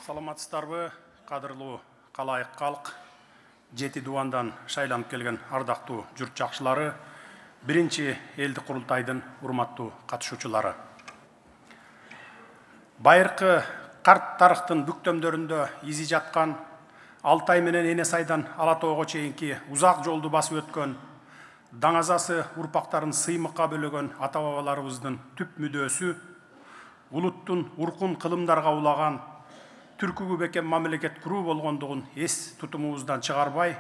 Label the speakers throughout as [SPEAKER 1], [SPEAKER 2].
[SPEAKER 1] Саламатсыздарбы, кадырлуу калайык калк, жети дубандан шайланып келген ардактуу журт жакшылары, биринчи элдик курултайдын урматтуу катышуучулары. Байыркы карт тарыхтын бүктөмдөрүндө изи жаткан, Алтай менен Эне сайдан Ала тоого чейинки узак жолду басып өткөн, даңазасы урпактарын сыймыкка бөлөгөн ата-бабаларыбыздын түп мүдөөсү, улуттун уркун кылымдарга улаган, түркүгү бекем мамлекет куруу болгондугун эс тутумубуздан чыгарбай,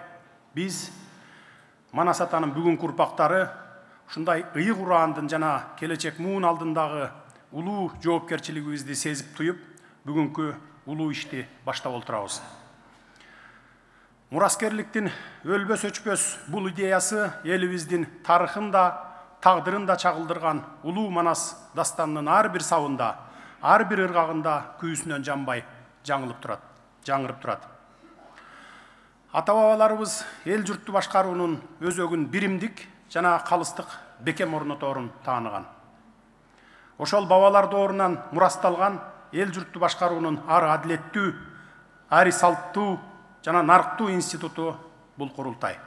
[SPEAKER 1] биз Манас атанын бүгүнкү урпактары ушундай ыйык ураандын жана келечек муун алдындагы улуу жоопкерчилигибизди сезип туюп, бүгүнкү улуу ишти баштап отурабыз. Мураскерликтин өлбөс өчпөс бул идеясы элибиздин тарыхын да, тагдырын да чагылдырган улуу Манас дастанынын ар бир сабында, ар бир ыргагында күйүүсүнөн жанбай жаңырып турат. Ата-бабаларыбыз эл журтту башкаруунун өзөгүн биримдик жана калыстык бекем орноторун тааныган. Ошол бабалар доорунан мурасталган эл журтту башкаруунун ар адилеттүү, ар салттуу жана нарктуу институту бул курултай.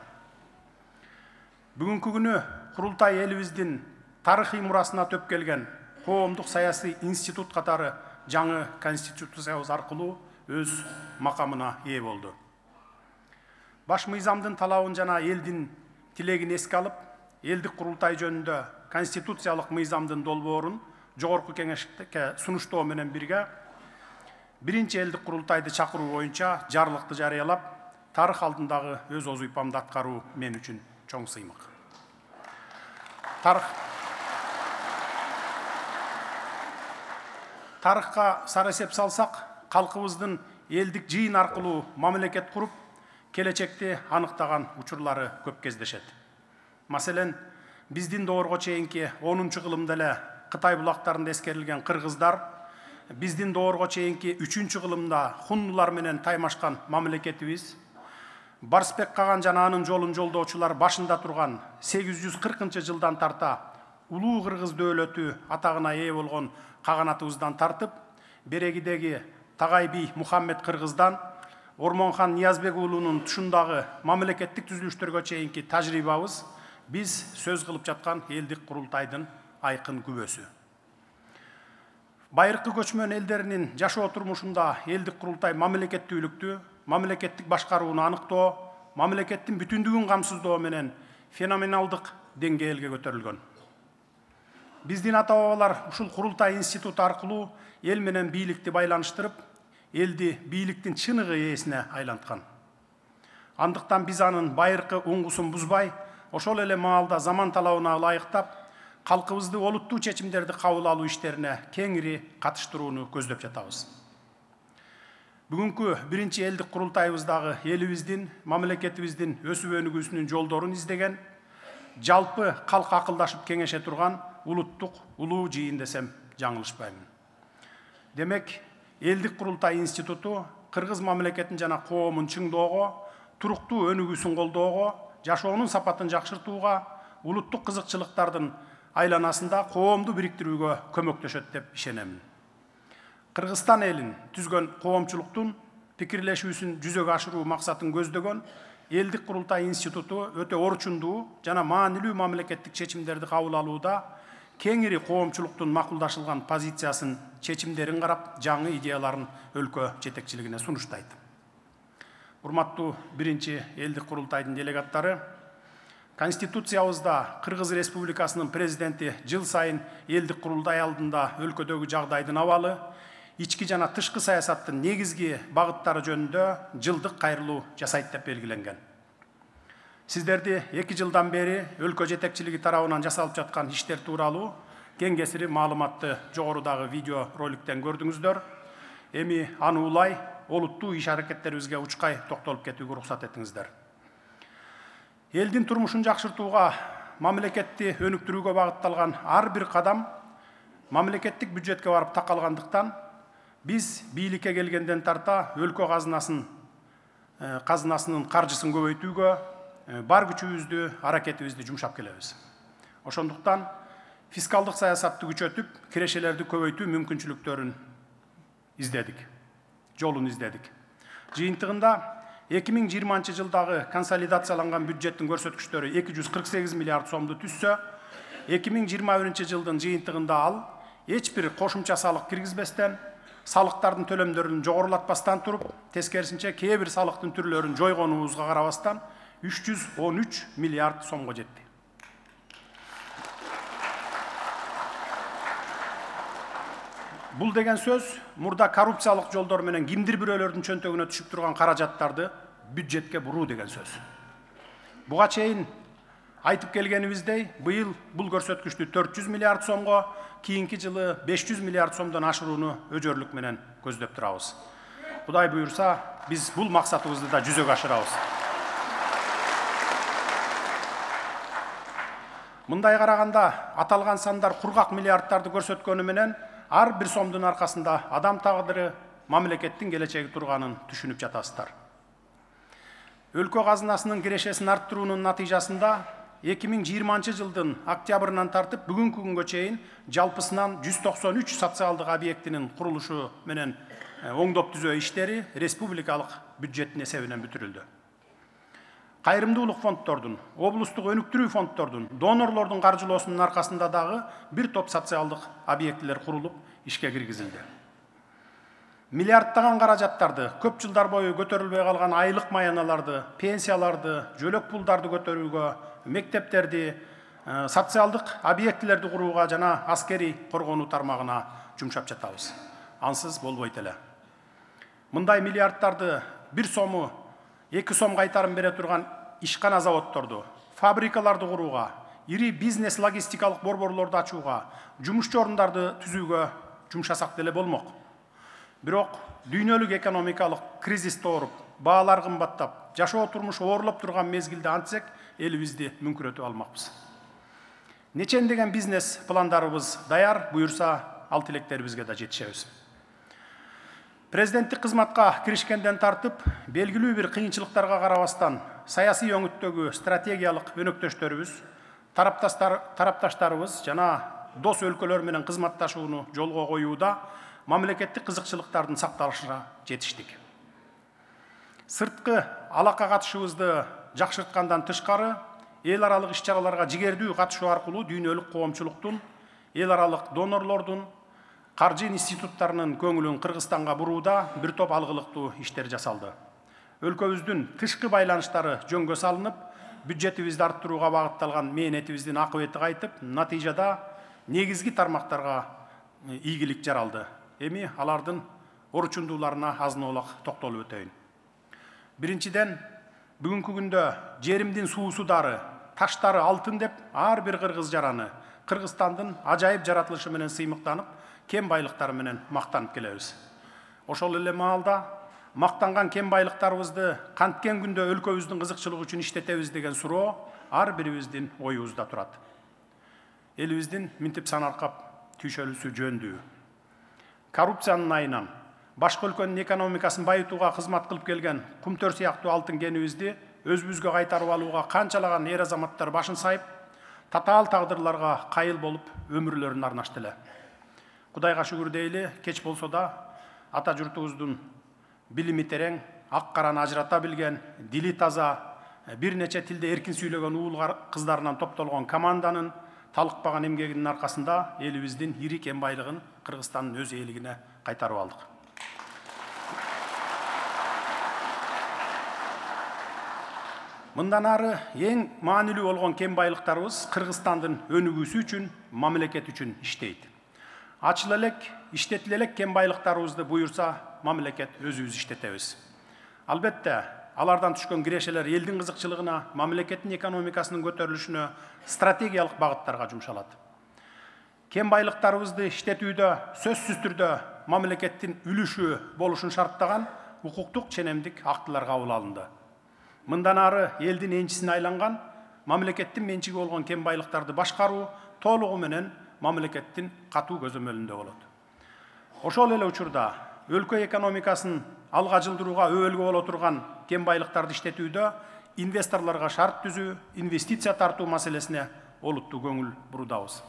[SPEAKER 1] Бүгүнкү күнү курултай элибиздин тарыхый мурасына төп келген коомдук саясий институт катары жаңы конституциябыз аркылуу өз макамына ээ болду. Баш мыйзамдын талабын жана элдин тилегин эске алып, элдик курултай жөнүндө конституциялык мыйзамдын долбоорун жогорку кеңешке сунуштоо менен бирге биринчи элдик курултайды чакыруу боюнча жарлыкты жарыялап, тарых алдындагы өз озуйпамды аткаруу мен үчүн чоң сыймык. Тарыхка сар эсеп салсак, калкыбыздын элдик жыйын аркылуу мамлекет куруп, келечекти аныктаган учурлары көп кездешет. Маселен, биздин доорго чейинки 10-кылымда эле Кытай булактарында эскерилген кыргыздар, биздин доорго чейинки 3-кылымда хуннулар менен таймашкан мамлекетибиз, Барсбек Каган жана анын жолун жолдоочулар башында турган 840-жылдан тарта улуу кыргыз дөөлөтү атагына ээ болгон каганатыбыздан тартып, берегидеги Тагай би Мухаммед кыргыздан Ормонхан Ниязбек уулунун тушундагы мамлекеттик түзүлүштөргө чейинки тажрыйбабыз биз сөз кылып жаткан элдик курултайдын айкын күбөсү. Байыркы көчмөн элдеринин жашоо турмушунда элдик курултай мамлекеттүүлүктү, мамлекеттик башкарууну аныктоо, мамлекеттин бүтүндүгүн камсыздоо менен феноменалдык деңгээлге көтөрүлгөн. Биздин ата-бабалар ушул курултай институту аркылуу эл менен бийликти байланыштырып, элди бийликтин чыныгы ээсине айланткан. Андыктан биз анын байыркы уңгусун бузбай, ошол эле маалда заман талабына ылайыктап, калкыбызды олуттуу чечимдерди кабыл алуу иштерине кеңири катыштырууну көздөп жатабыз. Бүгүнкү биринчи элдик курултайыбыздагы элибиздин, мамлекетибиздин өсүп өнүгүүсүнүн жолдорун издеген, жалпы калк акылдашып кеңеше турган улуттук улуу жыйын десем жаңылышпаймын. Демек, элдик курултай институту кыргыз мамлекетин жана коомун чыңдоого, туруктуу өнүгүүсүн колдоого, жашоонун сапатын жакшыртууга, улуттук кызыкчылыктардын айланасында коомду бириктирүүгө көмөктөшөт деп ишенемин. Кыргызстан элин түзгөн коомчулуктун пикирлешүүсүн жүзөгө ашыруу максатын көздөгөн элдик курултай институту өтө орчундуу жана маанилүү мамлекеттик чечимдерди кабыл алууда кеңири коомчулуктун макулдашылган позициясын, чечимдерин карап, жаңы идеяларын өлкө жетекчилигине сунуштайт. Урматтуу биринчи элдик курултайдын делегаттары, Конституциябызда Кыргыз Республикасынын президенти жыл сайын элдик курултай алдында өлкөдөгү жагдайдын абалы, ички жана тышкы саясаттын негизги багыттары жөнүндө жылдык кайрылуу жасайт деп белгиленген. Сиздерди 2 жылдан бери өлкө жетекчилиги тарабынан жасалып жаткан иштер тууралуу кең кесири маалыматты жогорудагы видео роликтен көрдүңүздөр. Эми аны улай олуттуу иш аракеттерибизге учкай токтолуп кетүүгө уруксат этиңиздер. Элдин турмушун жакшыртууга, мамлекетти өнүктүрүүгө багытталган ар бир кадам мамлекеттик бюджетке барып такалгандыктан, биз бийликке келгенден тарта өлкө казынасынын каржысын көбөйтүүгө бар күчүбүздү, аракетибизди жумшап келебиз. Ошондуктан фискалдык саясатты күчөтүп, кирешелерди көбөйтүү мүмкүнчүлүктөрүн издедик. жолун издедик. Жыйынтыгында 2020 жылдагы консолидацияланган бюджеттин көрсөткүчтөрү 248 миллиард сомду түссө, 2021 жылдын жыйынтыгында ал эч бир кошумча салык киргизбестен, салыктардын төлөмдөрүн жогорулатпастан туруп, тескерисинче кээ бир салыктын түрлөрүн жойгонубузга карабастан 313 миллиард сомго жетти. Бул деген сөз, мурда коррупциялык жолдор менен кимдир бирөөлөрдүн чөнтөгүнө түшүп турган каражаттарды бюджетке буруу деген сөз. Буга чейин айтып келгенибиздей, быйыл бул көрсөткүчтү 400 миллиард сомго, кийинки жылы 500 миллиард сомдон ашырууну өжөрлүк менен көздөп турабыз. Кудай буйрса, биз бул максатыбызды да жүзөгө ашырабыз. Мындай караганда аталган сандар кургак миллиарддарды көрсөткөнү менен ар бир сомдун аркасында адам тагдыры, мамлекеттин келечеги турганын түшүнүп жатасыздар. Өлкө казынасынын кирешесин арттыруунун натыйжасында 2020 жылдын октябрынан тартып бүгүнкү күнгө чейин жалпысынан 193 социалдык объектинин курулушу менен оңдоп түзөө иштери республикалык бюджеттин эсебинен бүтүрүлдү. Кайрымдуулук фонддордун, облустук өнүктүрүү фонддордун, донорлордун каржылоосунун аркасында дагы бир топ социалдык объектилер курулуп, ишке киргизилди. Миллиарддаган каражаттарды, көп жылдар бою көтөрүлбөй калган айлык маяналарды, пенсияларды, жөлөк пулдарды көтөрүүгө, мектептерди, социалдык объектилерди курууга жана аскерий коргонуу тармагына жумшап жатабыз. Ансыз болбойт эле. Мындай миллиарддарды бир сому 2 сом кайтарым бере турган ишкана заводдорду, фабрикаларды курууга, ири бизнес логистикалык борборлорду ачууга, жумушчу орундарды түзүүгө жумшасак деле болмок. Бирок дүйнөлүк экономикалык кризис тооруп, баалар кымбаттап, жашоо турмушу оорлоп турган мезгилде антсек, элибизди мүңкүрөтүп алмакпыз. Нечендеген бизнес пландарыбыз даяр, буйрса ал тилектерибизге да жетишебиз. Президенттик кызматка киришкенден тартып, белгилүү бир кыйынчылыктарга карабастан, саясий өңүттөгү стратегиялык өнөктөштөрүбүз, тарапташтарыбыз жана дос өлкөлөр менен кызматташууну жолго коюуда мамлекеттик кызыкчылыктардын сакталышына жетиштик. Сырткы алака катышыбызды жакшырткандан тышкары, эл аралык иш-чараларга жигердүү катышуу аркылуу дүйнөлүк коомчулуктун, эл аралык донорлордун, каржы институттарынын көңүлүн Кыргызстанга бурууда бир топ алгылыктуу иштер жасалды. Өлкөбүздүн тышкы байланыштары жөнгө салынып, бюджетибизди арттырууга багытталган мээнетибиздин акыбети кайтып, натыйжада негизги тармактарга ийгилик жаралды. Эми алардын орчундууларына азын-аулак токтолуп өтөйүн. Биринчиден, бүгүнкү күндө жеримдин суусу дары, таштары алтын деп ар бир кыргыз жараны Кыргызстандын ажайып жаратылышы менен сыймыктанып, кен байлыктары менен мактанып келебиз. Ошол эле маалда мактанган кен байлыктарыбызды канткен күндө өлкөбүздүн кызыкчылыгы үчүн иштетебиз деген суроо ар бирибиздин оюбузда турат. Элибиздин минтип санаркап түйшөлүүсү жөндүү. Коррупциянын айынан башка өлкөнүн экономикасын байытууга кызмат кылып келген кумтөр сыяктуу алтын кенибизди өзүбүзгө кайтарып алууга канчалаган эр азаматтар башын сайып, татаал тагдырларга кайыл болуп өмүрлөрүн арнашты эле. Кудайга шүгүр дейли, кеч болсо да ата журтубуздун билими терең, ак караны ажырата билген, дили таза, бир нече тилде эркин сүйлөгөн уул кыздарынан топтолгон команданын талыкпаган эмгегинин аркасында элибиздин ири кен байлыгын Кыргызстандын өз ээлигине кайтарып алдык. Мындан ары эң маанилүү болгон кен байлыктарыбыз Кыргызстандын өнүгүүсү үчүн, мамлекет үчүн иштейт. Ачыл элек, иштетил элек кен байлыктарыбызды буйрса, мамлекет өзүбүз иштетебиз. Албетте, алардан түшкөн кирешелер элдин кызыкчылыгына, мамлекеттин экономикасынын көтөрүлүшүнө, стратегиялык багыттарга жумшалат. Кен байлыктарыбызды иштетүүдө сөзсүз түрдө мамлекеттин үлүшү болушун шарттаган укуктук ченемдик актылар кабыл алынды. Мындан ары элдин энчисине айланган, мамлекеттин менчиги болгон кен байлыктарды башкаруу толугу менен мамлекеттин катуу көзөмөлүндө болот. Ошол эле учурда өлкө экономикасын алга жылдырууга өбөлгө боло турган кен байлыктарды иштетүүдө инвесторлорго шарт түзүү, инвестиция тартуу маселесине олуттуу көңүл буруудабыз.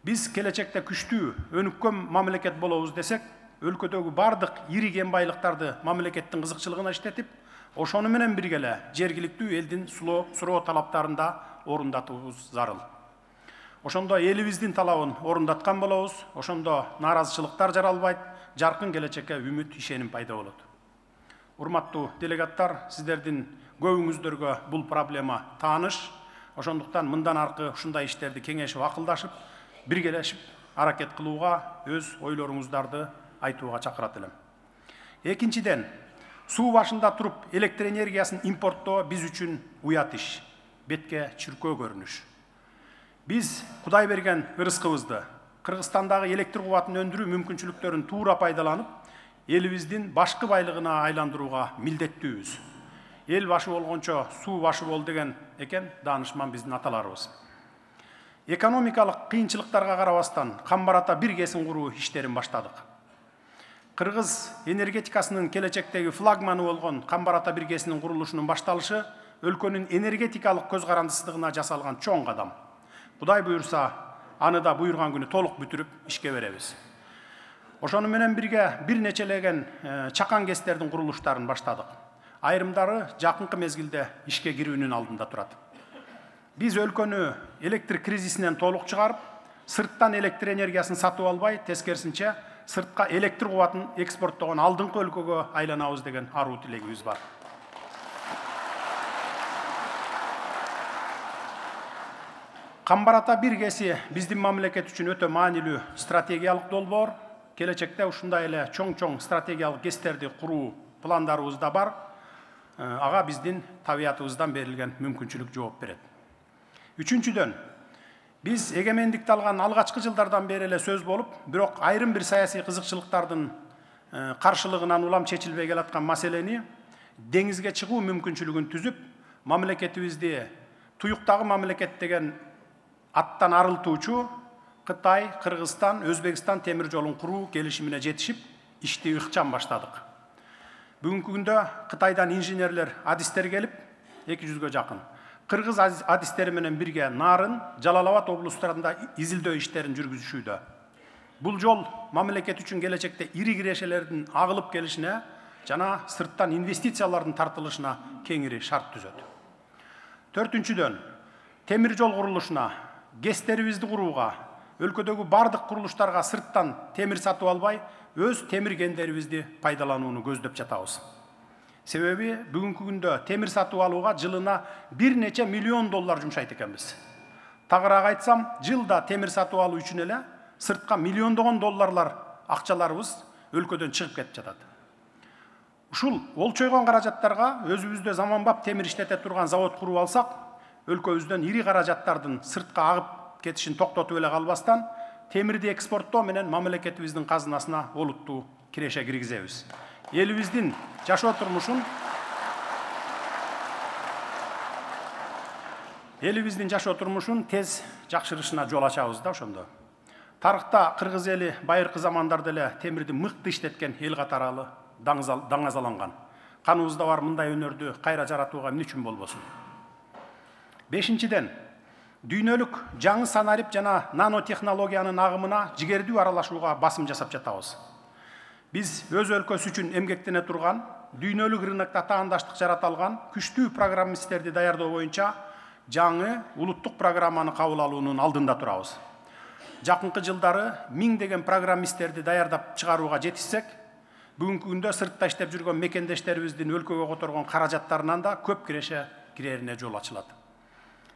[SPEAKER 1] Биз келечекте күчтүү, өнүккөн мамлекет болобуз десек, өлкөдөгү бардык ири кен байлыктарды мамлекеттин кызыкчылыгына иштетип, ошону менен бирге эле жергиликтүү элдин суроо талаптарын да орундатуубуз зарыл. Ошондо элибиздин талабын орундаткан болобуз, ошондо нааразычылыктар жаралбайт, жаркын келечекке үмүт, ишеним пайда болот. Урматтуу делегаттар, сиздердин көбүңүздөргө бул проблема тааныш. Ошондуктан мындан аркы ушундай иштерди кеңешип, акылдашып, биргелешип аракет кылууга, өз ойлоруңуздарды айтууга чакырат элем. Экинчиден, суу башында туруп электр энергиясын импорттоо биз үчүн уят иш, бетке чүркөө көрүнүш. Биз Кудай берген ырыскыбызды, Кыргызстандагы электр кубатын өндүрүү мүмкүнчүлүктөрүн туура пайдаланып, элибиздин башкы байлыгына айландырууга милдеттүүбүз. Эл башы болгончо суу башы бол деген экен даанышман биздин аталарыбыз. Экономикалык кыйынчылыктарга карабастан Камбар-Ата бир кесин куруу иштерин баштадык. Кыргыз энергетикасынын келечектеги флагманы болгон Камбар-Ата бир кесинин курулушунун башталышы өлкөнүн энергетикалык көз карандысыздыгына жасалган чоң кадам. Кудай буйрса, аны да буйрган күнү толук бүтүрүп ишке беребиз. Ошону менен бирге бир нечелеген чакан кестердин курулуштарын баштадык. Айрымдары жакынкы мезгилде ишке кирүүнүн алдында турат. Биз өлкөнү электр кризисинен толук чыгарып, сырттан электр энергиясын сатып албай, тескерисинче сыртка электр кубатын экспорттогон алдыңкы өлкөгө айланабыз деген аруу тилегибиз бар. Камбар-Ата бир кеси биздин мамлекет үчүн өтө маанилүү стратегиялык долбоор. Келечекте ушундай эле чоң стратегиялык кестерди куруу пландарыбыз да бар. Ага биздин табиятыбыздан берилген мүмкүнчүлүк жооп берет. Үчүнчүдөн, биз эгемендикти алган алгачкы жылдардан бери эле сөз болуп, бирок айрым бир саясий кызыкчылыктардын каршылыгынан улам чечилбей келаткан маселени деңизге чыгуу мүмкүнчүлүгүн түзүп, мамлекетибизди туюктагы мамлекет деген аттан арылтуучу Кытай, Кыргызстан, Өзбекстан темир жолун куруу келишимине жетишип, ишти ыкчам баштадык. Бүгүнкү күндө Кытайдан инженерлер, адистер келип, 200гө жакын. Кыргыз адистери менен бирге Нарын, Жалал-Абад облустарында изилдөө иштерин жүргүзүшүүдө. Бул жол мамлекет үчүн келечекте ири кирешелердин агылып келишине жана сырттан инвестициялардын тартылышына кеңири шарт түзөт. Төртүнчүдөн, темир жол курулушуна, ГЭСтерибизди курууга, өлкөдөгү бардык курулуштарга сырттан темир сатып албай, өз темир кендерибизди пайдаланууну көздөп жатабыз. Себеби бүгүнкү күндө темир сатып алууга жылына бир нече миллион доллар жумшайт экенбиз. Тагыраак айтсам, жылда темир сатып алуу үчүн эле сыртка миллиондогон долларлар акчаларыбыз өлкөдөн чыгып кетип жатат. Ушул олчойгон каражаттарга өзүбүздө заманбап темир иштете турган завод куруп алсак, өлкөбүздөн ири каражаттардын сыртка агып кетишин токтотуп эле калбастан, темирди экспорттоо менен мамлекетибиздин казынасына олуттуу киреше киргизебиз. Элибиздин жашоо турмушун тез жакшырышына жол ачабыз да ошондо. Тарыхта кыргыз эли байыркы замандарда эле темирди мыкты иштеткен эл катары даңазаланган. Каныбызда бар мындай өнөрдү кайра жаратууга эмне үчүн болбосун? Бешинчиден, дүйнөлүк жаңы санарип жана нанотехнологиянын агымына жигердүү аралашууга басым жасап жатабыз. Биз өз өлкөсү үчүн эмгектене турган, дүйнөлүк рынокто таандаштык жарата алган күчтүү программисттерди даярдоо боюнча жаңы улуттук программаны кабыл алуунун алдында турабыз. Жакынкы жылдары 1000 деген программисттерди даярдап чыгарууга жетишсек, бүгүнкү күндө сыртта иштеп жүргөн мекендештерибиздин өлкөгө которгон каражаттарынан да көп киреше кирерине жол ачылат.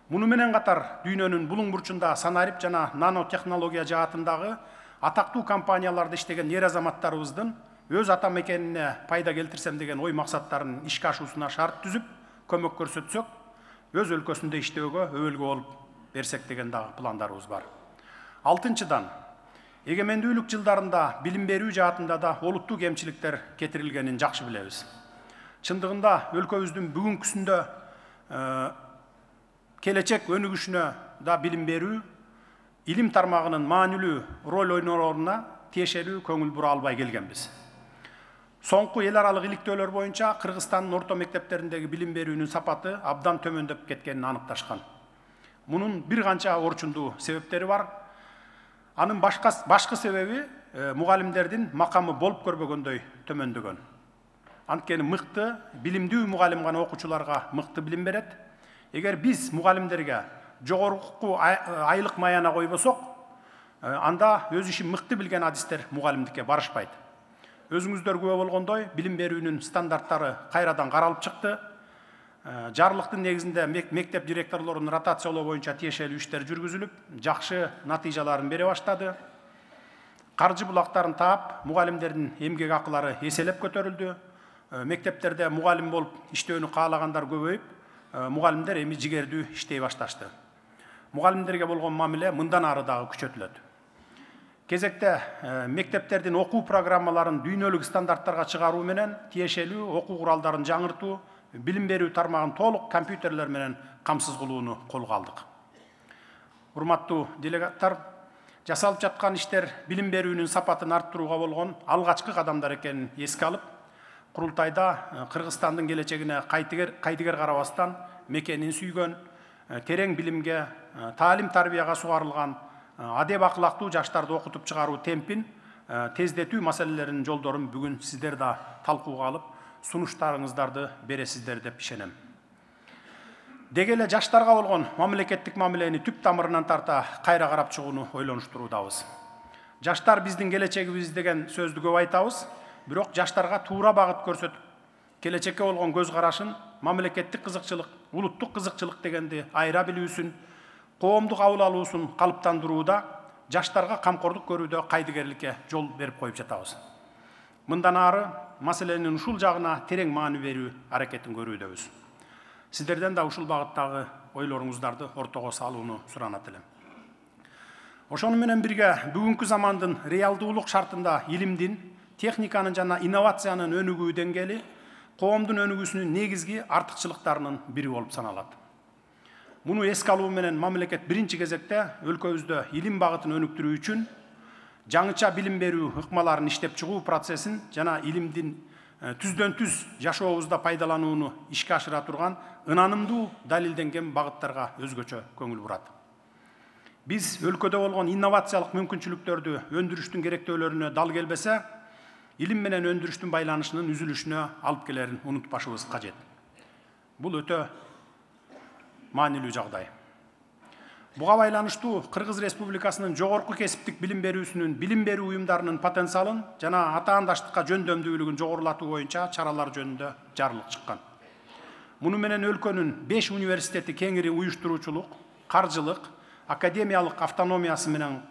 [SPEAKER 1] Муну менен катар дүйнөнүн булуң бурчунда санарип жана нанотехнология жаатындагы атактуу компанияларда иштеген эр азаматтарыбыздын өз ата мекенине пайда келтирсем деген ой максаттарын ишке ашуусуна шарт түзүп, көмөк көрсөтсөк, өз өлкөсүндө иштөөгө өбөлгө болуп берсек деген дагы пландарыбыз бар. Алтынчыдан, эгемендүүлүк жылдарында билим берүү жаатында да олуттуу кемчиликтер кетирилгенин жакшы билебиз. Чындыгында өлкөбүздүн бүгүнкүсүндө келечек өнүгүшүнө да билим берүү, илим тармагынын маанилүү роль ойнооруна тиешелүү көңүл бура албай келгенбиз. Соңку эл аралык иликтөөлөр боюнча Кыргызстандын орто мектептериндеги билим берүүнүн сапаты абдан төмөндөп кеткенин аныкташкан. Мунун бир канча орчундуу себептери бар. Анын башкы себеби мугалимдердин макамы болуп көрбөгөндөй төмөндөгөн. Анткени мыкты, билимдүү мугалим гана окуучуларга мыкты билим берет. Эгер биз мугалимдерге жогорку айлык маяна койбосок, анда өз ишин мыкты билген адистер мугалимдикке барышпайт. Өзүңүздөр күбө болгондой, билим берүүнүн стандарттары кайрадан каралып чыкты. Жарлыктын негизинде мектеп директорлорунун ротациялоо боюнча тиешелүү иштер жүргүзүлүп, жакшы натыйжаларын бере баштады. Каржы булактарын таап, мугалимдердин эмгек акылары эселеп көтөрүлдү. Мектептерде мугалим болуп иштөөнү каалагандар көбөйүп, мугалимдер эми жигердүү иштей башташты. Мугалимдерге болгон мамиле мындан ары дагы күчөтүлөт. Кезекте мектептердин окуу программаларын дүйнөлүк стандарттарга чыгаруу менен тиешелүү окуу куралдарын жаңыртуу, билим берүү тармагын толук компьютерлер менен камсыз кылууну колго алдык. Урматтуу делегаттар, жасалып жаткан иштер билим берүүнүн сапатын арттырууга болгон алгачкы кадамдар экенин эске алып, курултайда Кыргызстандын келечегине кайтыгер карабастан мекенин сүйгөн, терең билимге, таалим тарбияга сугарылган, адеп акылактуу жаштарды окутуп чыгаруу темпин тездетүү маселелеринин жолдорун бүгүн сиздер да талкууга алып, сунуштарыңыздарды бересиздер деп ишенем. Деги эле жаштарга болгон мамлекеттик мамилени түп тамырынан тарта кайра карап чыгууну ойлонуштуруудабыз. Жаштар биздин келечегибиз деген сөздү көп айтабыз, бирок жаштарга туура багыт көрсөтүп, келечекке болгон көз карашын, мамлекеттик кызыкчылык, улуттук кызыкчылык дегенди айыра билүүсүн, коомдук кабыл алуусун калыптандырууда, жаштарга камкордук көрүүдө кайдыгерликке жол берип коюп жатабыз. Мындан ары маселенин ушул жагына терең маани берүү аракетин көрүүдөбүз. Сиздерден да ушул багыттагы ойлоруңуздарды ортого салууну суранат элем. Ошону менен бирге бүгүнкү замандын реалдуулук шартында илимдин, техниканын жана инновациянын өнүгүү деңгээли коомдун өнүгүүсүнүн негизги артыкчылыктарынын бири болуп саналат. Муну эске алуу менен мамлекет биринчи кезекте өлкөбүздө илим багытын өнүктүрүү үчүн жаңыча билим берүү ыкмаларын иштеп чыгуу процессин жана илимдин түздөн түз жашообузда пайдаланууну ишке ашыра турган ынанымдуу далилденген багыттарга өзгөчө көңүл бурат. Биз өлкөдө болгон инновациялык мүмкүнчүлүктөрдү өндүрүштүн керектөөлөрүнө дал келбесе, илим менен өндүрүштүн байланышынын үзүлүшүнө алып келерин унутпашыбыз кажет. Бул өтө маанилүү жагдай. Буга байланыштуу Кыргыз Республикасынын жогорку кесиптик билим берүүсүнүн билим берүү уюмдарынын потенциалын жана атаандаштыкка жөндөмдүүлүгүн жогорулатуу боюнча чаралар жөнүндө жарлык чыккан. Муну менен өлкөнүн 5 университети кеңири уюштуруучулук, каржылык, академиялык автономиясы менен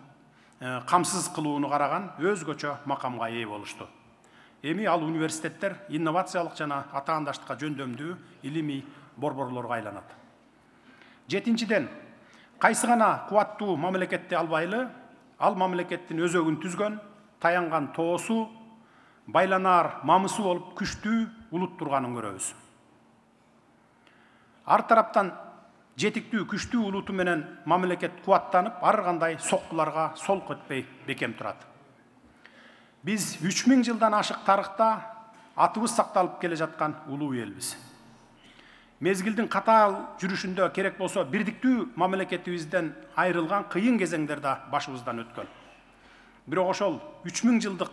[SPEAKER 1] камсыз кылууну караган өзгөчө макамга ээ болушту. Эми ал университеттер инновациялык жана атаандаштыкка жөндөмдүү илимий борборлорго айланат. Жетинчиден, кайсы гана кубаттуу мамлекетти албайлы, ал мамлекеттин өзөгүн түзгөн, таянган тоосу, байланаар мамысы болуп күчтүү улут турганын көрөбүз. Ар тараптан жетиктүү күчтүү улуту менен мамлекет кубаттанып, ар кандай соккуларга солк этпей бекем турат. Биз 3000 жылдан ашык тарыхта атыбыз сакталып келе жаткан улуу элбиз. Мезгилдин катаал жүрүшүндө керек болсо бирдиктүү мамлекетибизден айрылган кыйын кезеңдер да башыбыздан өткөн. Бирок ошол 3000 жылдык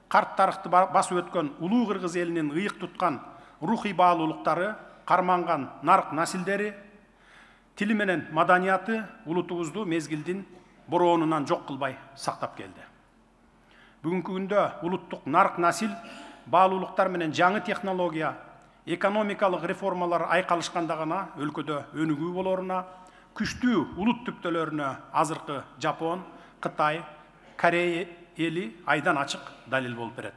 [SPEAKER 1] карт тарыхты басып өткөн улуу кыргыз элинин ыйык туткан рухий баалуулуктары, карманган нарк насилдери, тили менен маданияты улутубузду мезгилдин бороонунан жок кылбай сактап келди. Бүгүнкү күндө улуттук нарк насил баалуулуктар менен жаңы технология, экономикалык реформалар айкалышканда гана өлкөдө өнүгүү болоруна, күчтүү улут түптөлөрүнө азыркы Жапон, Кытай, Корея эли айдан ачык далил болуп берет.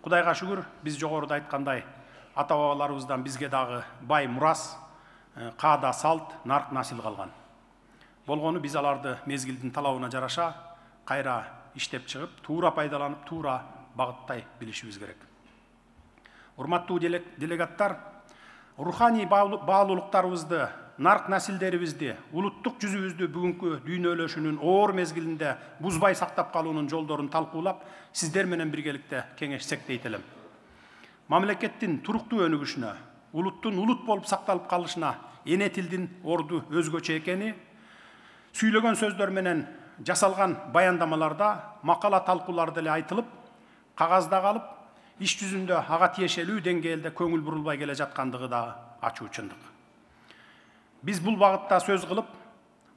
[SPEAKER 1] Кудайга шүгүр, биз жогоруда айткандай, ата-бабаларыбыздан бизге дагы бай мурас, каада салт, нарк насил калган. Болгону биз аларды мезгилдин талабына жараша кайра иштеп чыгып, туура пайдаланып, туура багыттай билишибиз керек. Урматтуу делегаттар, руханий баалуулуктарыбызды, нарк насилдерибизди, улуттук жүзүбүздү бүгүнкү дүйнөлөшүүнүн оор мезгилинде бузбай сактап калуунун жолдорун талкуулап, сиздер менен биргеликте кеңешсек дейт элем. Мамлекеттин туруктуу өнүгүшүнө, улуттун улут болуп сакталып калышына эне тилдин орду өзгөчө экени, сүйлөгөн сөздөр менен жасалган баяндамаларда макала талкуулар деле айтылып, кагазда калып, иш жүзүндө ага тиешелүү деңгээлде көңүл бурулбай келе жаткандыгы да ачуу чындык. Биз бул багытта сөз кылып,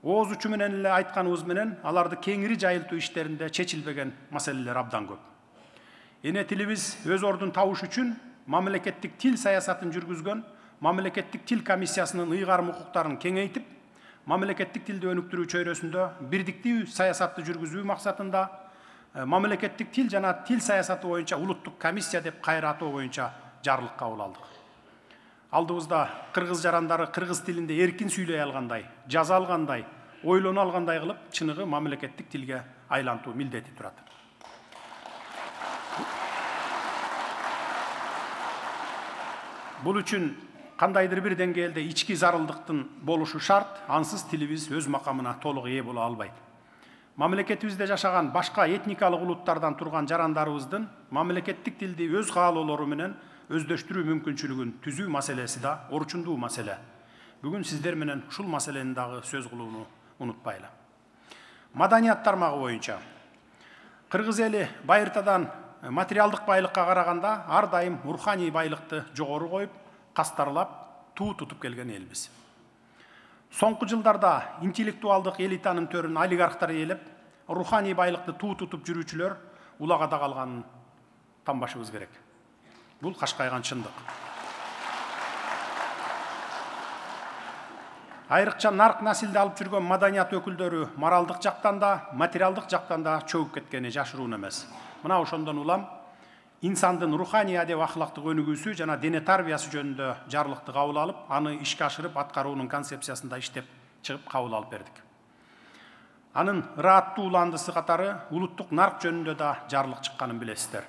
[SPEAKER 1] ооз учу менен эле айтканыбыз менен аларды кеңири жайылтуу иштеринде чечилбеген маселелер абдан көп. Эне тилибиз өз ордун табыш үчүн мамлекеттик тил саясатын жүргүзгөн мамлекеттик тил комиссиясынын ыйгарым укуктарын кеңейтип, мамлекеттик тилди өнүктүрүү чөйрөсүндө бирдиктүү саясатты жүргүзүү максатында мамлекеттик тил жана тил саясаты боюнча улуттук комиссия деп кайра атоо боюнча жарлык кабыл алдык. Алдыбызда кыргыз жарандары кыргыз тилинде эркин сүйлөй алгандай, жаза алгандай, ойлоно алгандай кылып, чыныгы мамлекеттик тилге айлантуу милдети турат. Бул үчүн кандайдыр бир деңгээлде ички зарылдыктын болушу шарт, ансыз тилибиз өз макамына толук ээ боло албайт. Мамлекетибизде жашаган башка этникалык улуттардан турган жарандарыбыздын мамлекеттик тилди өз каалоолору менен өздөштүрүү мүмкүнчүлүгүн түзүү маселеси да орчундуу маселе. Бүгүн сиздер менен ушул маселени дагы сөз кылууну унутпайлы. Маданият тармагы боюнча кыргыз эли байыртадан материалдык байлыкка караганда ар дайым руханий байлыкты жогору коюп, кастарлап, туу тутуп келген элбиз. Соңку жылдарда интеллектуалдык элитанын төрүн олигархтар ээлеп, руханий байлыкты туу тутуп жүрүүчүлөр улагада калганын танбашыбыз керек. Бул кашкайган чындык. Айрыкча нарк насилди алып жүргөн маданият өкүлдөрү моралдык жактан да, материалдык жактан да чөгүп кеткени жашыруун эмес. Мына ошондон улам инсандын руханий адеп ахлактык өнүгүүсү жана дене тарбиясы жөнүндө жарлыкты кабыл алып, аны ишке ашырып аткаруунун концепциясында иштеп чыгып кабыл алып бердик. Анын ырааттуу уландысы катары улуттук нарк жөнүндө да жарлык чыкканын билесиздер.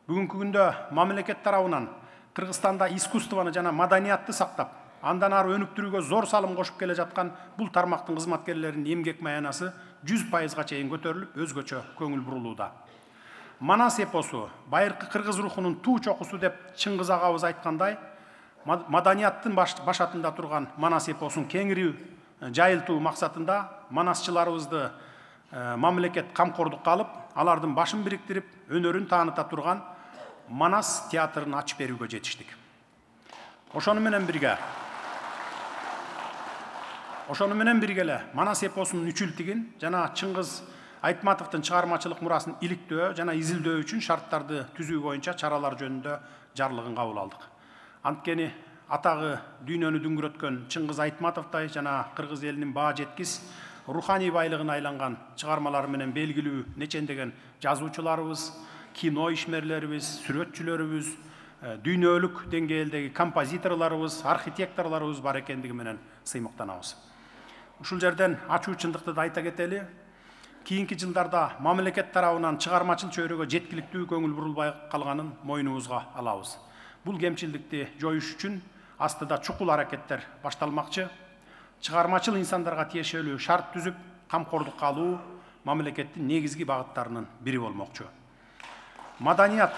[SPEAKER 1] Бүгүнкү күндө мамлекет тарабынан Кыргызстанда искусствону жана маданиятты сактап, андан ары өнүктүрүүгө зор салым кошуп келе жаткан бул тармактын кызматкерлеринин эмгек маянасы 100%га чейин көтөрүлүп, өзгөчө көңүл бурулууда. Манас эпосу, байыркы кыргыз рухунун туу чокусу деп Чыңгыз агабыз айткандай, маданияттын башатында турган Манас эпосун кеңири жайылтуу максатында манасчыларыбызды мамлекет камкордукка алып, алардын башын бириктирип, өнөрүн тааныта турган Манас театрын ачып берүүгө жетиштик. Ошону менен бирге эле Манас эпосунун үчүлтигин жана Чыңгыз Айтматовдун чыгармачылык мурасын иликтөө жана изилдөө үчүн шарттарды түзүү боюнча чаралар жөнүндө жарлыгын кабыл алдык. Анткени атагы дүйнөнү дүңгүрөткөн Чыңгыз Айтматовдой жана кыргыз элинин баа жеткис руханий байлыгына айланган чыгармалары менен белгилүү нечендеген жазуучуларыбыз, кино ишмерлерибиз, сүрөтчүлөрүбүз, дүйнөлүк деңгээлдеги композиторлорубуз, архитекторлорубуз бар экендиги менен сыймыктанабыз. Ушул жерден ачуу чындыкты да айта кетели. Кийинки жылдарда мамлекет тарабынан чыгармачыл чөйрөгө жеткиликтүү көңүл бурулбай калганын мойнубузга алабыз. Бул кемчилдикти жоюш үчүн астыда чукул аракеттер башталмакчы. Чыгармачыл инсандарга тиешелүү шарт түзүп, камкордукка алуу мамлекеттин негизги багыттарынын бири болмокчу. Маданият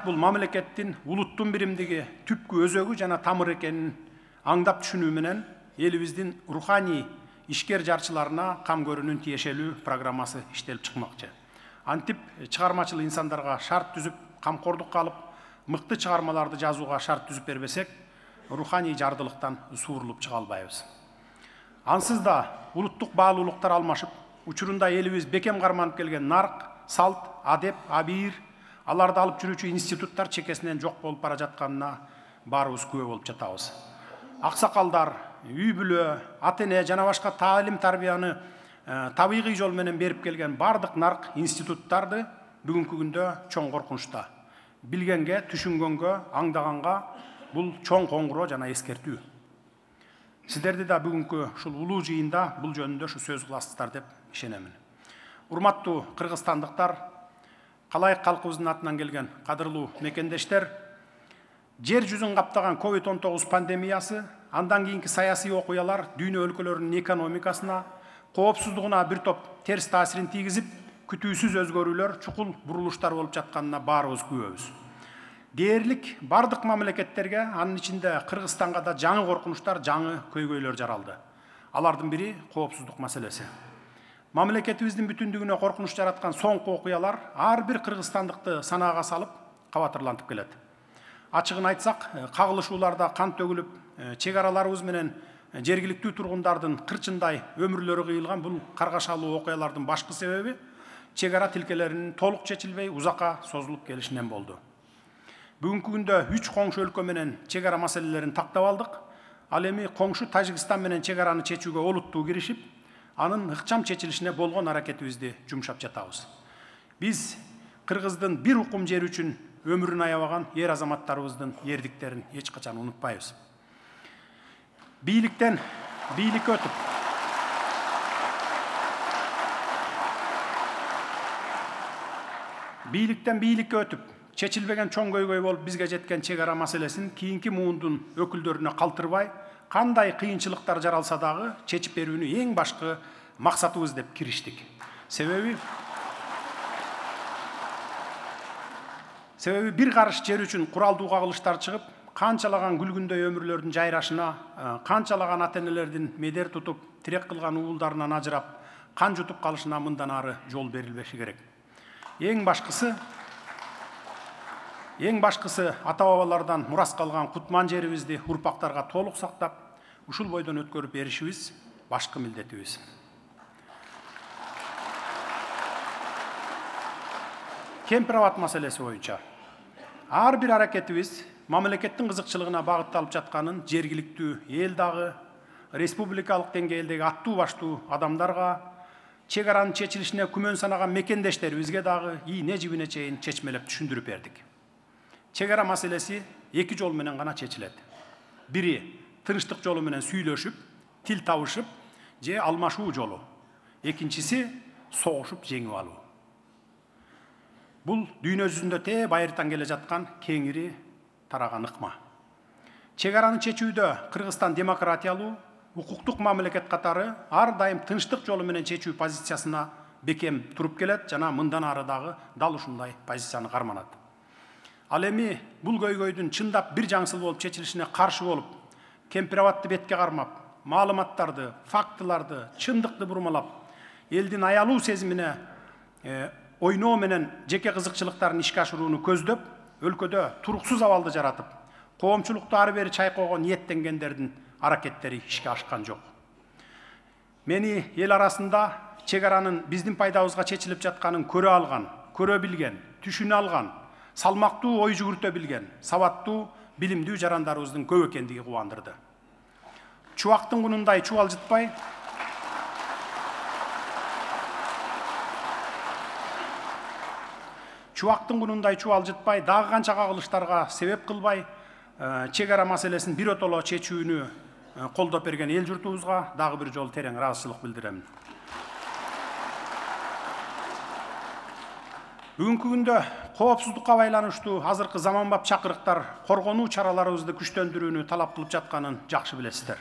[SPEAKER 1] бул мамлекеттин улуттун биримдиги, түпкү өзөгү жана тамыр экенин аңдап түшүнүү менен элибиздин руханий ишкер жарчыларына кам көрүүнүн тиешелүү программасы иштелип чыкмакчы. Антип чыгармачыл инсандарга шарт түзүп, камкордукка алып, мыкты чыгармаларды жазууга шарт түзүп бербесек, руханий жардылыктан суурулуп чыга албайбыз. Ансыз да улуттук баалуулуктар алмашып, учурунда элибиз бекем карманып келген нарк, салт, адеп, абийир, аларды алып жүрүүчү институттар чекесинен жок болуп бара жатканына баарыбыз күбө болуп жатабыз. Аксакалдар, үй бүлө, ата-эне жана башка таалим тарбияны табигый жол менен берип келген бардык нарк институттарды бүгүнкү күндө чоң коркунучта. Билгенге, түшүнгөнгө, аңдаганга бул чоң коңгуроо жана эскертүү. Сиздерди да бүгүнкү ушул улуу жыйында бул жөнүндө ушу сөз кыласыздар деп ишенемин. Урматтуу кыргызстандыктар, калайык калкыбыздын атынан келген кадырлуу мекендештер, жер жүзүн каптаган COVID-19 пандемиясы, андан кийинки саясий окуялар дүйнө өлкөлөрүнүн экономикасына, коопсуздугуна бир топ терс таасирин тийгизип, күтүүсүз өзгөрүүлөр, чукул бурулуштар болуп жатканына баарыбыз күбөбүз. Дээрлик бардык мамлекеттерге, анын ичинде Кыргызстанга да жаңы коркунучтар, жаңы көйгөйлөр жаралды. Алардын бири коопсуздук маселеси. Мамлекетибиздин бүтүндүгүнө коркунуч жараткан соңку окуялар ар бир кыргызстандыкты санаага салып кабатырлантып келет. Ачыгын айтсак, кагылышууларда кан төгүлүп, чек араларыбыз менен жергиликтүү тургундардын кырчындай өмүрлөрү кыйылган бул каргашалуу окуялардын башкы себеби чек ара тилкелеринин толук чечилбей узакка созулуп келишинен болду. Бүгүнкү күндө 3 коңшу өлкө менен чек ара маселелерин тактап алдык. Ал эми коңшу Тажикстан менен чек араны чечүүгө олуттуу киришип, анын ыкчам чечилишине болгон аракетибизди жумшап жатабыз. Биз кыргыздын бир укум жери үчүн өмүрүн аябаган эр азаматтарыбыздын эрдиктерин эч качан унутпайбыз. Бийликтен бийликке өтүп, чечилбеген чоң көйгөй болуп бизге жеткен чек ара маселесин кийинки муундун өкүлдөрүнө калтырбай, кандай кыйынчылыктар жаралса дагы чечип берүүнү эң башкы максатыбыз деп кириштик. Себеби бир карыш жер үчүн куралдуу кагылыштар чыгып, канчалаган күлгүндөй өмүрлөрдүн жайрашына, канчалаган ата-энелердин медер тутуп, тирек кылган уулдарынан ажырап, кан жутуп калышына мындан ары жол берилбеши керек. Эң башкысы ата-бабалардан мурас калган кутман жерибизди урпактарга толук сактап, ушул бойдон өткөрүп беришибиз башкы милдетибиз. Кемпир абад маселеси боюнча ар бир аракетибиз мамлекеттин кызыкчылыгына багытталып жатканын жергиликтүү эл дагы, республикалык деңгээлдеги аттуу баштуу адамдарга, чек аранын чечилишине күмөн санаган мекендештерибизге дагы ийне жибине чейин чечмелеп түшүндүрүп бердик. Чек ара маселеси 2 жол менен гана чечилет. Бири тынчтык жолу менен сүйлөшүп, тил табышып, же алмашуу жолу. Экинчиси согушуп жеңип алуу. Бул дүйнө жүзүндө те байыртан келе жаткан кеңири тараган ыкма. Чек араны чечүүдө Кыргызстан демократиялуу, укуктук мамлекет катары ар дайым тынчтык жолу менен чечүү позициясына бекем туруп келет жана мындан ары дагы дал ушундай позицияны карманат. Ал эми бул көйгөйдүн чындап бир жаңсыл болуп чечилишине каршы болуп, кемпир абадты бетке кармап, маалыматтарды, фактыларды, чындыкты бурмалап, элдин аялуу сезимине ойноо менен жеке кызыкчылыктарын ишке ашырууну көздөп, өлкөдө туруксуз абалды жаратып, коомчулукту ары бери чайкоого ниеттенгендердин аракеттери ишке ашкан жок. Мени эл арасында чек аранын биздин пайдабызга чечилип жатканын көрө алган, көрө билген, түшүнө алган, салмактуу ой жүгүртө билген, сабаттуу, билимдүү жарандарыбыздын көп экендиги кубандырды. Чубактын кунундай чубалжытпай, дагы канча кагылыштарга себеп кылбай, чек ара маселесин биротоло чечүүнү колдоп берген эл журтубузга дагы бир жолу терең ыраазычылык билдирем. Бүгүнкү күндө коопсуздукка байланыштуу азыркы заманбап чакырыктар коргонуу чараларыбызды күчтөндүрүүнү талап кылып жатканын жакшы билесиздер.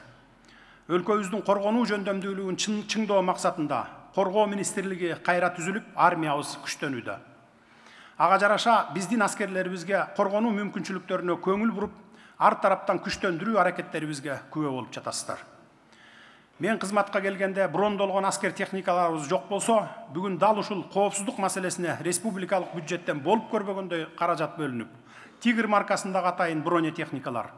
[SPEAKER 1] Өлкөбүздүн коргонуу жөндөмдүүлүгүн чыңдоо максатында Коргоо министрлиги кайра түзүлүп, армиябыз күчтөнүүдө. Ага жараша биздин аскерлерибизге коргонуу мүмкүнчүлүктөрүнө көңүл буруп, ар тараптан күчтөндүрүү аракеттерибизге күбө болуп жатасыздар. Мен кызматка келгенде брондолгон аскер техникаларыбыз жок болсо, бүгүн дал ушул коопсуздук маселесине республикалык бюджеттен болуп көрбөгөндөй каражат бөлүнүп, Тигр маркасындагы атайын бронетехникалар,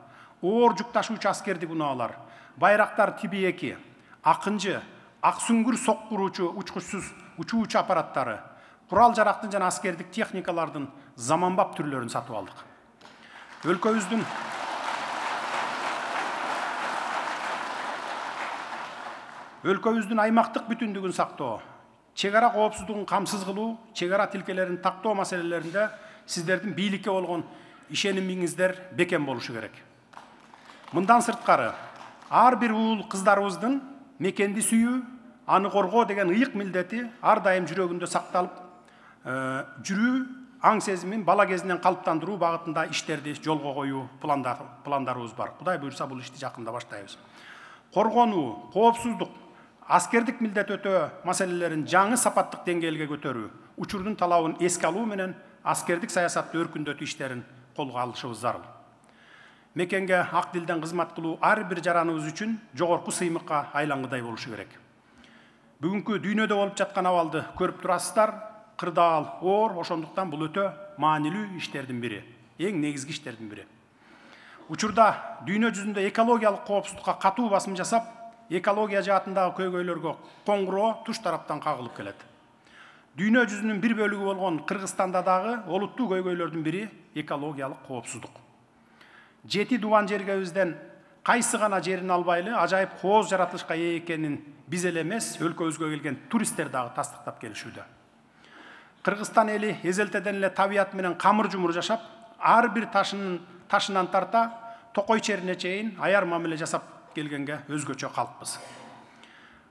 [SPEAKER 1] оор жүк ташуучу аскердик унаалар, байрактар тиби 2, акынчы, ак сүңгүр соккуруучу учкучсуз учуучу аппараттары, курал жарактын жана аскердик техникалардын заманбап түрлөрүн сатып алдык. Өлкөбүздүн аймактык бүтүндүгүн сактоо, чек ара коопсуздугун камсыз кылуу, чек ара тилкелерин тактоо маселелеринде сиздердин бийликке болгон ишенимиңиздер бекем болушу керек. Мындан сырткары, ар бир уул кыздарыбыздын мекенди сүйүү, аны коргоо деген ыйык милдети ар дайым жүрөгүндө сакталып, жүрүү, аң сезимин бала кезинен калыптандыруу багытында иштерди жолго коюу пландарыбыз бар. Кудай буйрса бул ишти жакында баштайбыз. Коргонуу, коопсуздук, аскердик милдет өтөө маселелерин жаңы сапаттык деңгээлге көтөрүү, учурдун талабын эске алуу менен аскердик саясатты өркүндөтүү иштерин колго алышыбыз зарыл. мекенге ак дилден кызмат кылуу ар бир жараныбыз үчүн жогорку сыймыкка айлангыдай болушу керек. Бүгүнкү дүйнөдө болуп жаткан абалды көрүп турасыздар. Кырдаал оор, ошондуктан бул өтө маанилүү иштердин бири, эң негизги иштердин бири. Учурда дүйнө жүзүндө экологиялык коопсуздукка катуу басым жасап, экология жаатындагы көйгөйлөргө коңгуроо туш тараптан кагылып келет. Дүйнө жүзүнүн бир бөлүгү болгон Кыргызстанда дагы олуттуу көйгөйлөрдүн бири экологиялык коопсуздук. 7 дубан жергебизден кайсы гана жерин албайлы ажайып кооз жаратылышка ээ экенин биз эле эмес, өлкөбүзгө келген туристтер дагы тастыктап келишүүдө. Кыргызстан эли эзелтеден эле табият менен камыр жумур жашап, ар бир ташынан тарта токой черине чейин аяр мамиле жасап келгенге өзгөчө калкпыз.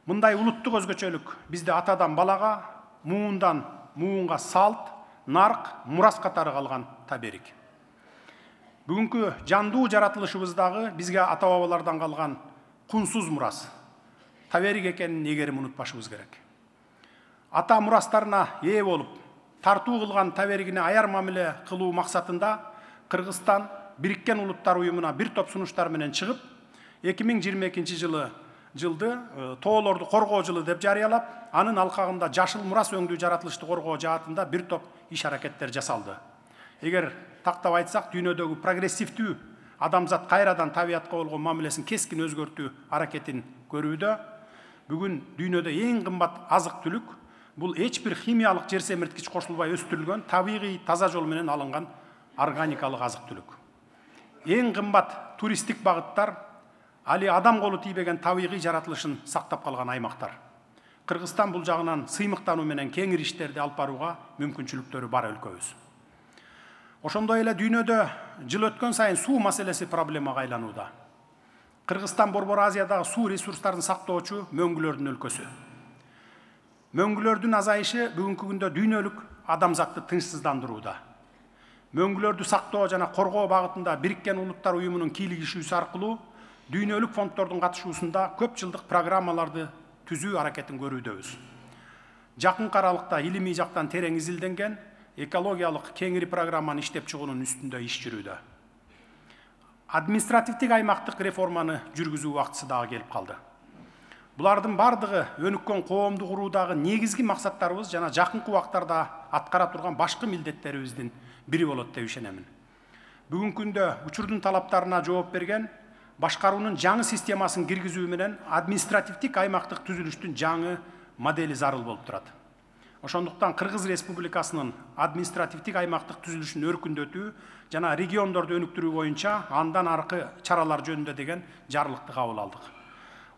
[SPEAKER 1] Мындай улуттук өзгөчөлүк бизде атадан балага, муундан муунга салт, нарк, мурас катары калган таберик. Бүгүнкү жандуу жаратылышыбыздагы бизге ата бабалардан калган кунсуз мурас, таберик экенин эгерим унутпашыбыз керек. Ата мурастарына ээ болуп, тартуу кылган таберигине аяр мамиле кылуу максатында Кыргызстан Бириккен Улуттар уюмуна бир топ сунуштар менен чыгып, 2022 жылды тоолорду коргоо жылы деп жарыялап, анын алкагында жашыл мурас өңдүү жаратылышты коргоо жаатында бир топ иш-аракеттер жасалды. Эгер тактап айтсак, дүйнөдөгү прогрессивдүү адамзат кайрадан табиятка болгон мамилесин кескин өзгөртүү аракетин көрүүдө. Бүгүн дүйнөдө эң кымбат азык түлүк бул эч бир химиялык жер семирткич кошулбай өстүрүлгөн табигый таза жол менен алынган органикалык азык түлүк. Эң кымбат туристтик багыттар али адам колу тийбеген табигый жаратылышын сактап калган аймактар. Кыргызстан бул жагынан сыймыктануу менен кеңир иштерди алып барууга мүмкүнчүлүктөрү бар өлкөбүз. Ошондой эле дүйнөдө жыл өткөн сайын суу маселеси проблемага айланууда. Кыргызстан Борбор Азиядагы суу ресурстарын сактоочу мөңгүлөрдүн өлкөсү. Мөңгүлөрдүн азайышы бүгүнкү күндө дүйнөлүк адамзатты тынчсыздандырууда. Мөңгүлөрдү сактоо жана коргоо багытында Бириккен Улуттар уюмунун кийлигишүүсү аркылуу дүйнөлүк фонддордун катышуусунда көп жылдык программаларды түзүү аракетин көрүүдөбүз. Жакынкы аралыкта илимий жактан терең изилденген экологиялык кеңири программаны иштеп чыгуунун үстүндө иш жүрүүдө. Административдик аймактык реформаны жүргүзүү убактысы дагы келип калды. Булардын бардыгы өнүккөн коомду куруудагы негизги максаттарыбыз жана жакынкы убактарда аткара турган башкы милдеттерибиздин бири болот деп ишенемин. Бүгүнкү күндө учурдун талаптарына жооп берген башкаруунун жаңы системасын киргизүү менен административдик аймактык түзүлүштүн жаңы модели зарыл болуп турат. Ошондуктан Кыргыз Республикасынын административдик аймактык түзүлүшүн өркүндөтүү жана региондорду өнүктүрүү боюнча андан аркы чаралар жөнүндө деген жарлыкты кабыл алдык.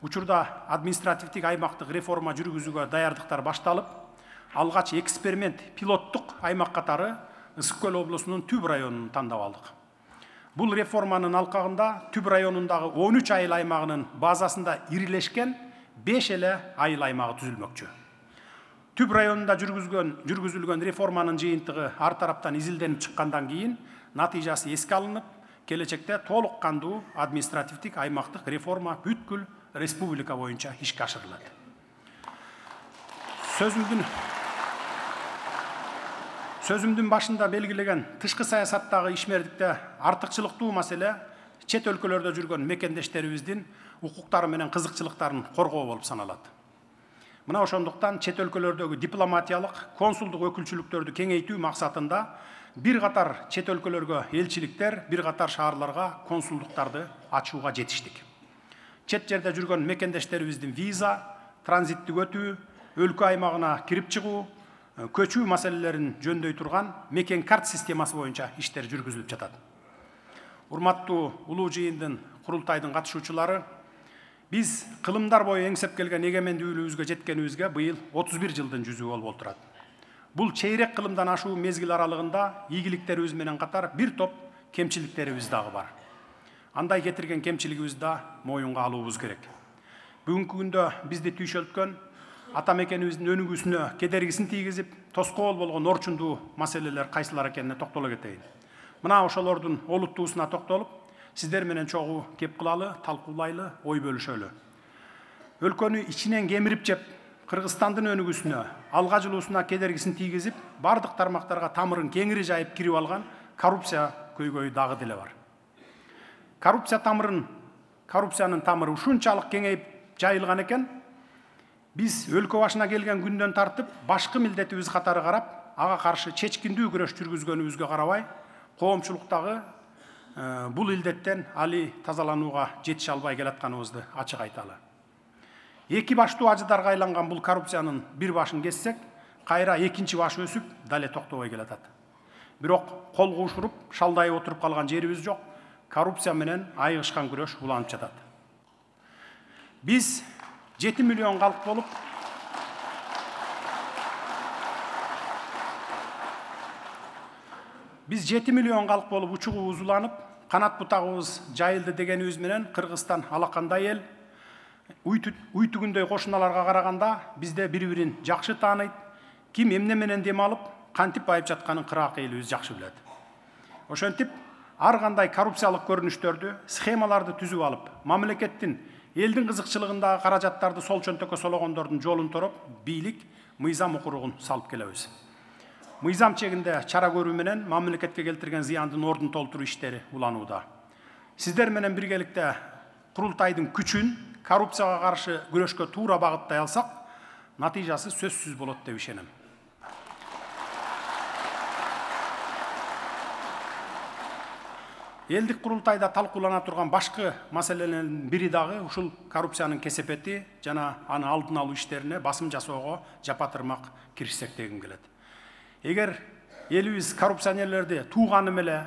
[SPEAKER 1] Учурда административдик аймактык реформа жүргүзүүгө даярдыктар башталып, алгач эксперимент пилоттук аймак катары Ысык көл облусунун Түб районун тандап алдык. Бул реформанын алкагында Түб районундагы 13 айыл аймагынын базасында ирилешкен 5 эле айыл аймагы түзүлмөкчү. Түб районунда жүргүзүлгөн реформанын жыйынтыгы ар тараптан изилденип чыккандан кийин натыйжасы эске алынып, келечекте толук кандуу административдик аймактык реформа бүткүл республика боюнча ишке ашырылат. Сөзүмдүн башында белгилеген тышкы саясаттагы ишмердикте артыкчылыктуу маселе чет өлкөлөрдө жүргөн мекендештерибиздин укуктары менен кызыкчылыктарын коргоо болуп саналат. Мына ошондуктан чет өлкөлөрдөгү дипломатиялык, консулдук өкүлчүлүктөрдү кеңейтүү максатында бир катар чет өлкөлөргө элчиликтер, бир катар шаарларга консулдуктарды ачууга жетиштик. Чет жерде жүргөн мекендештерибиздин виза, транзиттик өтүү, өлкө аймагына кирип чыгуу, көчүү маселелерин жөндөй турган мекен карт системасы боюнча иштер жүргүзүлүп жатат. Урматтуу улуу жыйындын курултайдын катышуучулары, биз кылымдар бою эңсеп келген эгемендүүлүгүбүзгө жеткенибизге быйыл 31 жылдын жүзү болуп отурат. Бул чейрек кылымдан ашуу мезгил аралыгында ийгиликтерибиз менен катар бир топ кемчиликтерибиз дагы бар. Андай кетирген кемчилигибизди да моюнга алуубуз керек. Бүгүнкү күндө бизди түйшөлткөн ата мекенибиздин өнүгүүсүнө кедергисин тийгизип, тоскоол болгон орчундуу маселелер кайсылар экенине токтоло кетейин. Мына ошолордун олуттуусуна токтолуп, сиздер менен чогуу кеп кылалы, талкуулайлы, ой бөлүшөлү. Өлкөнү ичинен кемирип жеп, Кыргызстандын өнүгүүсүнө, алга жылуусуна кедергисин тийгизип, бардык тармактарга тамырын кеңири жайып кирип алган коррупция көйгөйү дагы деле бар. коррупциянын тамыры ушунчалык кеңейип жайылган экен, биз өлкө башына келген күндөн тартып башкы милдетибиз катары карап, ага каршы чечкиндүү күрөш жүргүзгөнүбүзгө карабай, коомчулуктагы бул илдеттен али тазаланууга жетише албай келатканыбызды ачык айталы. Эки баштуу ажыдарга айланган бул коррупциянын бир башын кессек, кайра экинчи баш өсүп, дале токтобой келатат. Бирок кол куушуруп, шалдайып отуруп калган жерибиз жок. Коррупция менен айыгышкан күрөш уланып жатат. Биз 7 миллион калк болуп, учугубуз уланып, канат бутагыбыз жайылды дегенибиз менен Кыргызстан алакандай эл. Үй түгүндөй кошуналарга караганда бизде бири-бирин жакшы тааныйт. Ким эмне менен дем алып, кантип байып жатканын кыраак элибиз жакшы билет. Ошентип, ар кандай коррупциялык көрүнүштөрдү, схемаларды түзүп алып, мамлекеттин элдин кызыкчылыгындагы каражаттарды сол чөнтөккө сологондордун жолун тороп, бийлик, мыйзам укуругун салып келебиз. Мыйзам чегинде чара көрүү менен мамлекетке келтирген зыяндын ордун толтуруу иштери уланууда. Сиздер менен биргеликте курултайдын күчүн коррупцияга каршы күрөшкө туура багыттай алсак, натыйжасы сөзсүз болот деп ишенем. Элдик курултайда талкуулана турган башкы маселелердин бири дагы ушул коррупциянын кесепети жана аны алдын алуу иштерине басым жасоого жапатырмак киришсек дегим келет. Эгер элибиз коррупционерлерди тууганым эле,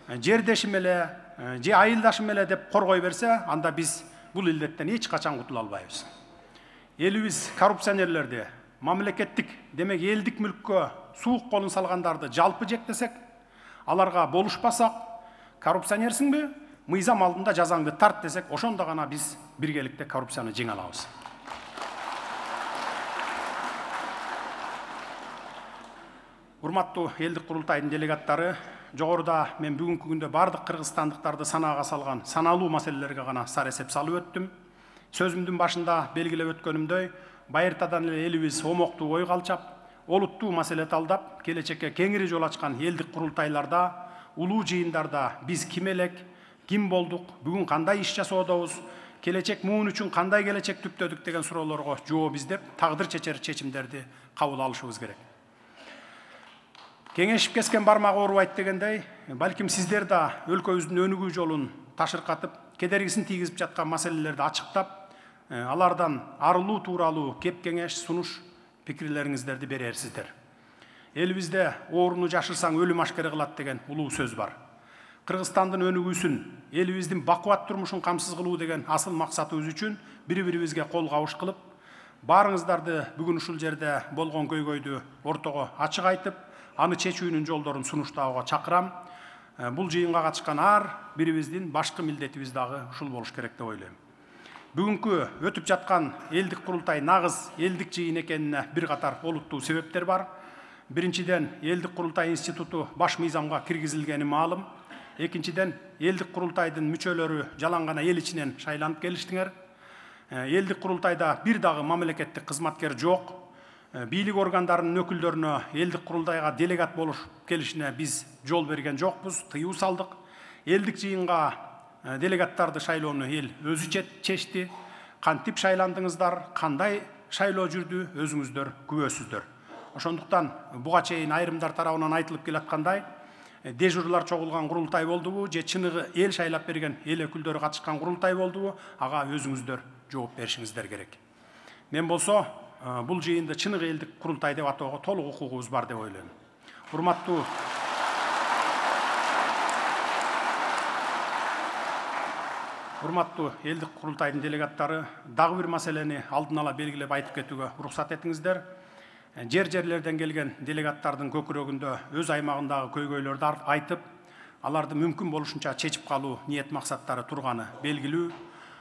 [SPEAKER 1] жердешим эле, же айылдашым эле деп коргой берсе, анда биз бул илдеттен эч качан кутула албайбыз. Элибиз коррупционерлерди, мамлекеттик, демек элдик мүлккө суук колун салгандарды жалпы жектесек, аларга болушпасак, коррупционерсиңби, мыйзам алдында жазаңды тарт десек, ошондо гана биз биргеликте коррупцияны жеңе алабыз. Урматтуу элдик курултайдын делегаттары, жогоруда мен бүгүнкү күндө бардык кыргызстандыктарды санаага салган саналуу маселелерге гана сар эсеп салып өттүм. Сөзүмдүн башында белгилеп өткөнүмдөй, байыртадан эле элибиз омоктуу ой калчап, олуттуу маселе талдап, келечекке кеңири жол ачкан элдик курултайларда, улуу жыйындарда биз ким элек, ким болдук, бүгүн кандай иш жасоодобуз, келечек муун үчүн кандай келечек түптөдүк деген суроолорго жооп издеп, тагдыр чечер чечимдерди кабыл алышыбыз керек. Кеңешип кескен бармак оорубайт дегендей, балким сиздер да өлкөбүздүн өнүгүү жолун ташыркатып, кедергисин тийгизип жаткан маселелерди ачыктап, алардан арылуу тууралуу кеп кеңеш, сунуш, пикирлериңиздерди берерсиздер. Элибизде ооруну жашырсаң өлүм ашкере кылат деген улуу сөз бар. Кыргызстандын өнүгүүсүн, элибиздин бакубат турмушун камсыз кылуу деген асыл максатыбыз үчүн бири-бирибизге кол кабыш кылып, баарыңыздарды бүгүн ушул жерде болгон көйгөйдү ортого ачык айтып, аны чечүүнүн жолдорун сунуштоого чакырам. Бул жыйынга катышкан ар бирибиздин башкы милдетибиз дагы ушул болуш керек деп ойлойм. Бүгүнкү өтүп жаткан элдик курултай нагыз элдик жыйын экенине бир катар олуттуу себептер бар. Биринчиден, элдик курултай институту баш мыйзамга киргизилгени маалым. Экинчиден, элдик курултайдын мүчөлөрү жалаң гана эл ичинен шайланып келиштиңер. Элдик курултайда бир дагы мамлекеттик кызматкер жок. Бийлик органдарынын өкүлдөрүнө элдик курултайга делегат болуш келишине биз жол берген жокпуз, тыюу салдык. Элдик жыйынга делегаттарды шайлоону эл өзү чечти. Кантип шайландыңыздар, кандай шайлоо жүрдү, өзүңүздөр күбөсүздөр. Ошондуктан буга чейин айрымдар тарабынан айтылып келаткандай, дежурлар чогулган курултай болдубу, же чыныгы эл шайлап берген эл өкүлдөрү катышкан курултай болдубу, ага өзүңүздөр жооп беришиңиздер керек. Мен болсо бул жыйынды чыныгы элдик курултай деп атоого толук укугубуз бар деп ойлойм. Урматтуу элдик курултайдын делегаттары, дагы бир маселени алдын ала белгилеп айтып кетүүгө уруксат этиңиздер. Жерлерден келген делегаттардын көкүрөгүндө өз аймагындагы көйгөйлөрдү айтып, аларды мүмкүн болушунча чечип калуу ниет максаттары турганы белгилүү.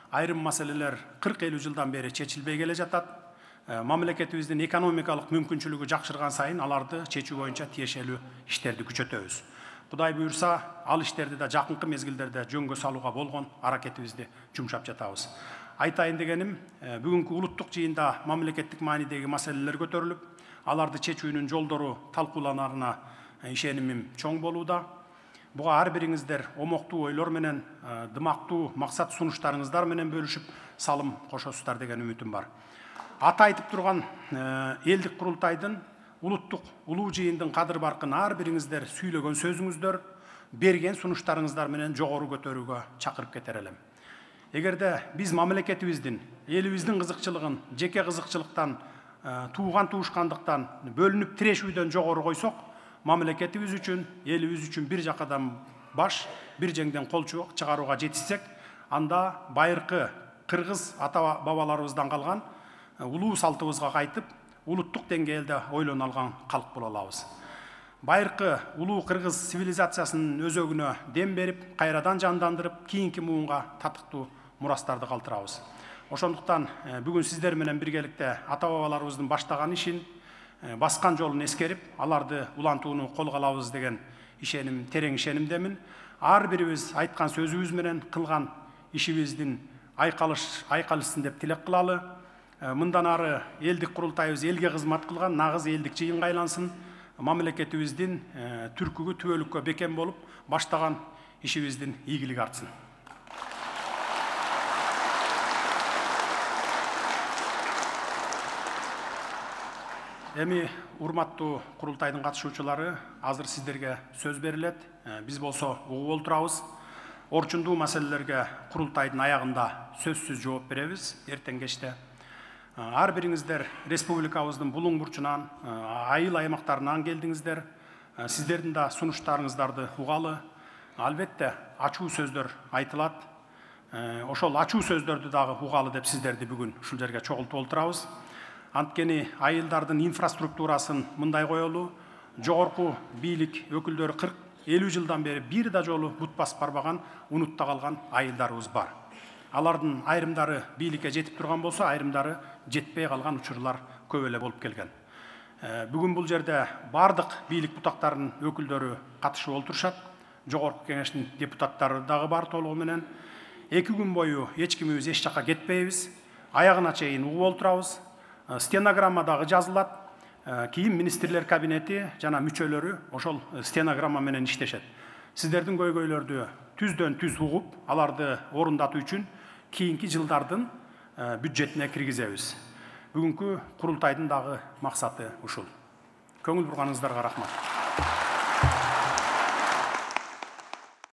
[SPEAKER 1] Айрым маселелер 40-50 жылдан бери чечилбей келе жатат. Мамлекетибиздин экономикалык мүмкүнчүлүгү жакшырган сайын аларды чечүү боюнча тиешелүү иштерди күчөтөбүз. Кудай буюрса, ал иштерди да жакынкы мезгилдерде жөнгө салууга болгон аракетибизди жумшап жатабыз. Айтайын дегеним, бүгүнкү улуттук жыйында мамлекеттик маанидеги маселелер көтөрүлүп, аларды чечүүнүн жолдору талкууланарына ишенимим чоң болууда. буга ар бириңиздер омоктуу ойлор менен, дымактуу максат сунуштарыңыздар менен бөлүшүп салым кошосуздар деген үмүтүм бар. Ата айтып турган элдик курултайдын улуттук улуу жыйындын кадыр баркын ар бириңиздер сүйлөгөн сөзүңүздөр, берген сунуштарыңыздар менен жогору көтөрүүгө чакырып кетер элем. Эгерде биз мамлекетибиздин, элибиздин кызыкчылыгын жеке кызыкчылыктан, тууган туушкандыктан бөлүнүп тирешүүдөн жогору койсок, мамлекетибиз үчүн, элибиз үчүн бир жакадан баш, бир жеңден кол чыгарууга жетишсек, анда байыркы кыргыз ата бабаларыбыздан калган улуу салтыбызга кайтып, улуттук деңгээлде ойлоно алган калк боло алабыз. Байыркы улуу кыргыз цивилизациясынын өзөгүнө дем берип, кайрадан жандандырып, кийинки муунга татыктуу мурастарды калтырабыз. Ошондуктан бүгүн сиздер менен биргеликте ата бабаларыбыздын баштаган ишин, баскан жолун эскерип, аларды улантууну колго алабыз деген ишеним, терең ишенимдемин. Ар бирибиз айткан сөзүбүз менен кылган ишибиздин айкалышсын деп тилек кылалы. Мындан ары элдик курултайыбыз элге кызмат кылган нагыз элдик жыйынга айлансын. Мамлекетибиздин түркүгү түбөлүккө бекем болуп, баштаган ишибиздин ийгилиги артсын. Эми урматтуу курултайдын катышуучулары, азыр сиздерге сөз берилет. Биз болсо угуп отурабыз. Орчундуу маселелерге курултайдын аягында сөзсүз жооп беребиз эртең кечте. Ар бириңиздер республикабыздын булуң бурчунан, айыл аймактарынан келдиңиздер. Сиздердин да сунуштарыңыздарды угалы. Албетте ачуу сөздөр айтылат. Ошол ачуу сөздөрдү дагы угалы деп сиздерди бүгүн ушул жерге чогултуп отурабыз. Анткени айылдардын инфраструктурасын мындай коелу, жогорку бийлик өкүлдөрү 40-50 жылдан бери бир да жолу бут басып барбаган, унутта калган айылдарыбыз бар. Алардын айрымдары бийликке жетип турган болсо, айрымдары жетпей калган учурлар көп эле болуп келген. Бүгүн бул жерде бардык бийлик бутактарынын өкүлдөрү катышып олтурушат. Жогорку кеңештин депутаттары дагы бар толугу менен. 2 күн бою эч кимибиз эч жакка кетпейбиз. Аягына чейин угуп олтурабыз. Стенограмма дагы жазылат. Кийин министрлер кабинети жана мүчөлөрү ошол стенограмма менен иштешет. Сиздердин көйгөйлөрдү түздөн түз угуп, аларды орундатуу үчүн кийинки жылдардын бюджетине киргизебиз. Бүгүнкү курултайдын дагы максаты ушул. Көңүл бурганыңыздарга рахмат.